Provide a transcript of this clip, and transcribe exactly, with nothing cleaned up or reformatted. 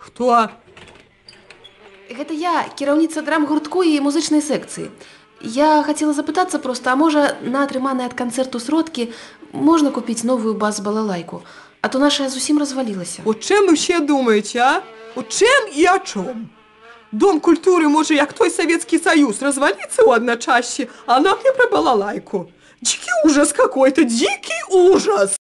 Хто? Гэта я, кіраўніца драм-гуртку і музычнай секцыі. Я хацела запытацца проста, а можа, на атрыманыя ад канцэрту сродкі можна купіць новую бас-балалайку, а то наша зусім развалілася. У чым вы ўсе думаеце, а? У чым і о чым? Дом культуры можа, як той Савецкі Саюз, разваліцца ў адначасье, а нам не пра балалайку. Дикий ужас какой-то, дикий ужас!